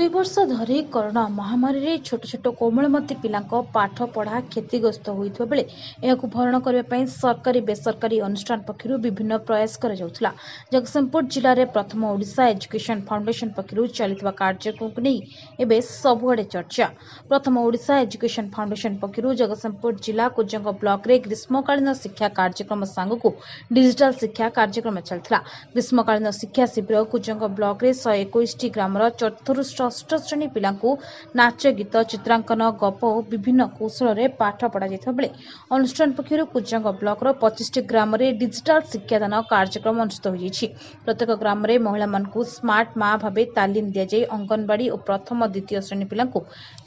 2 ବର୍ଷ ଧରି କରୋନା ମହାମାରୀରେ ଛୋଟ ଛୋଟ କୋମଳମତି ପିଲାଙ୍କ ପାଠପଢ଼ା କ୍ଷତିଗ୍ରସ୍ତ ହୋଇଥିବା ବେଳେ ଏହାକୁ ଭରଣା କରିବା ପାଇଁ ସରକାରୀ, ବେସରକାରୀ ଅନୁଷ୍ଠାନ ପକ୍ଷରୁ ବିଭିନ୍ନ ପ୍ରୟାସ କରାଯାଉଥିଲା। ଜଗତସିଂହପୁର ଜିଲ୍ଲାରେ ପ୍ରଥମ ଓଡ଼ିଶା ଏଜୁକେସନ ଫାଉଣ୍ଡେସନ ପକ୍ଷରୁ ଚାଲିଥିବା କାର୍ଯ୍ୟକ୍ରମକୁ ନେଇ ଏବେ ସବୁଆଡ଼େ ଚର୍ଚ୍ଚା। ପ୍ରଥମ ଓଡ଼ିଶା ଏଜୁକେସନ ଫାଉଣ୍ଡେସନ ପକ୍ଷରୁ ଜଗତସିଂହପୁର ଜିଲ୍ଲା କୁଜଙ୍ଗ ବ୍ଲକରେ ଗ୍ରୀଷ୍ମକାଳୀନ ଶିକ୍ଷା କାର୍ଯ୍ୟକ୍ରମ ସାଙ୍ଗକୁ ଡିଜିଟାଲ ଶିକ୍ଷା କାର୍ଯ୍ୟକ୍ରମ ଚାଲିଥିଲା। ଗ୍ରୀଷ୍ମକାଳୀନ ଶିକ୍ଷା ଶିବିର କୁଜଙ୍ଗ ବ୍ଲକରେ 121ଟି ଗ୍ରାମର ଚତୁର୍ଥରୁ ଷଷ୍ଠ ଶ୍ରେଣୀ ପିଲାଙ୍କୁ ନାଚ, ଗୀତ, ଚିତ୍ରାଙ୍କନ, ଗପ ଓ ବିଭିନ୍ନ କୌଶଳରେ ପାଠ ପଢ଼ାଯାଇଥିବା ବେଳେ ଅନୁଷ୍ଠାନ ପକ୍ଷରୁ କୁଜଙ୍ଗ ବ୍ଲକର 25ଟି ଗ୍ରାମରେ ଡିଜିଟାଲ ଶିକ୍ଷାଦାନ କାର୍ଯ୍ୟକ୍ରମ ଅନୁଷ୍ଠିତ ହୋଇଯାଇଛି। ପ୍ରତ୍ୟେକ ଗ୍ରାମରେ ମହିଳାମାନଙ୍କୁ ସ୍ମାର୍ଟ ମା ଭାବେ ତାଲିମ ଦିଆଯାଇ ଅଙ୍ଗନବାଡି ଓ ପ୍ରଥମ, ଦ୍ୱିତୀୟ ଶ୍ରେଣୀ ପିଲାଙ୍କୁ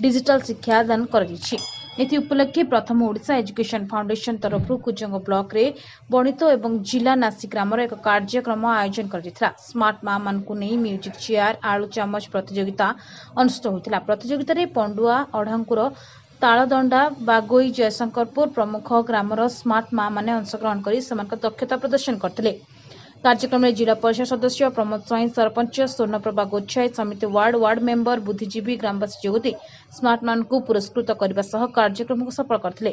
ଡିଜିଟାଲ ଶିକ୍ଷାଦାନ କରାଯାଇଛି। ଏଥି ଉପଲକ୍ଷେ ପ୍ରଥମ ଓଡ଼ିଶା ଏଜୁକେସନ ଫାଉଣ୍ଡେସନ ତରଫରୁ କୁଜଙ୍ଗ ବ୍ଲକରେ ବଣିତ ଏବଂ ଜିଲ୍ଲା ନାସି ଗ୍ରାମର ଏକ କାର୍ଯ୍ୟକ୍ରମ ଆୟୋଜନ କରାଯାଇଥିଲା। ସ୍ମାର୍ଟ ମା ମାନଙ୍କୁ ନେଇ ମ୍ୟୁଜିକ୍ ଚେୟାର, ଆଳୁ ଚାମଚ ପ୍ରତିଯୋଗିତା ଅନୁଷ୍ଠିତ ହୋଇଥିଲା। ପ୍ରତିଯୋଗିତାରେ ପଣ୍ଡୁଆ, ଅଢ଼ାଙ୍କୁର, ତାଳଦଣ୍ଡା, ବାଗୋଇ, ଜୟଶଙ୍କରପୁର ପ୍ରମୁଖ ଗ୍ରାମର ସ୍ମାର୍ଟ ମା ମାନେ ଅଂଶଗ୍ରହଣ କରି ସେମାନଙ୍କ ଦକ୍ଷତା ପ୍ରଦର୍ଶନ କରିଥିଲେ। କାର୍ଯ୍ୟକ୍ରମରେ ଜିଲ୍ଲା ପରିଷଦ ସଦସ୍ୟ ପ୍ରମୋଦ ସ୍ୱାଇଁ, ସରପଞ୍ଚ ସ୍ୱର୍ଣ୍ଣପ୍ରଭା ଗୋଛାଇ, ସମିତି ୱାର୍ଡ, ୱାର୍ଡ ମେମ୍ବର, ବୁଦ୍ଧିଜୀବୀ, ଗ୍ରାମବାସୀ ଯୋଗଦେଇ ସ୍ମାର୍ଟମାନଙ୍କୁ ପୁରସ୍କୃତ କରିବା ସହ କାର୍ଯ୍ୟକ୍ରମକୁ ସଫଳ କରିଥିଲେ।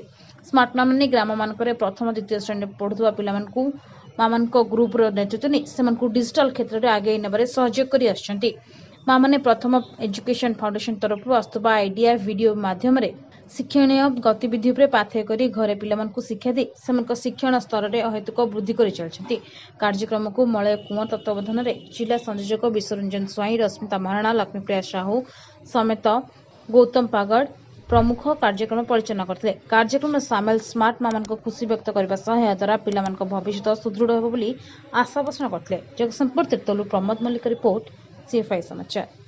ସ୍ମାର୍ଟ ମାନେ ଗ୍ରାମମାନଙ୍କରେ ପ୍ରଥମ, ଦ୍ୱିତୀୟ ଶ୍ରେଣୀରେ ପଢୁଥିବା ପିଲାମାନଙ୍କୁ ମାମାନଙ୍କ ଗ୍ରୁପର ନେତୃତ୍ୱ ନେଇ ସେମାନଙ୍କୁ ଡିଜିଟାଲ କ୍ଷେତ୍ରରେ ଆଗେଇ ନେବାରେ ସହଯୋଗ କରି ଆସୁଛନ୍ତି। ମାମାନେ ପ୍ରଥମ ଏଜୁକେସନ ଫାଉଣ୍ଡେସନ ତରଫରୁ ଆସୁଥିବା ଆଇଡିଆ ଭିଡିଓ ମାଧ୍ୟମରେ ଶିକ୍ଷଣୀୟ ଗତିବିଧି ଉପରେ ପାଥେୟ କରି ଘରେ ପିଲାମାନଙ୍କୁ ଶିକ୍ଷା ଦେଇ ସେମାନଙ୍କ ଶିକ୍ଷଣ ସ୍ତରରେ ଅହେତୁକ ବୃଦ୍ଧି କରି ଚାଲିଛନ୍ତି। କାର୍ଯ୍ୟକ୍ରମକୁ ମଳୟ କୁଅଁର ତତ୍ତ୍ୱାବଧାନରେ ଜିଲ୍ଲା ସଂଯୋଜକ ବିଶ୍ୱରଞ୍ଜନ ସ୍ୱାଇଁ, ରଶ୍ମିତା ମହାରଣା, ଲକ୍ଷ୍ମୀପ୍ରିୟା ସାହୁ ସମେତ ଗୌତମ ପାଗଡ଼ ପ୍ରମୁଖ କାର୍ଯ୍ୟକ୍ରମ ପରିଚାଳନା କରିଥିଲେ। କାର୍ଯ୍ୟକ୍ରମରେ ସାମିଲ ସ୍ମାର୍ଟ ମାମାନଙ୍କ ଖୁସି ବ୍ୟକ୍ତ କରିବା ସହ ଏହାଦ୍ୱାରା ପିଲାମାନଙ୍କ ଭବିଷ୍ୟତ ସୁଦୃଢ଼ ହେବ ବୋଲି ଆଶା ପୋଷଣ କରିଥିଲେ। ଜଗତସିଂହପୁର ତିର୍ତ୍ତୋଲରୁ ପ୍ରମୋଦ ମଲ୍ଲିକ ରିପୋର୍ଟ, ସିଏଫ୍ଆଇ ସମାଚାର।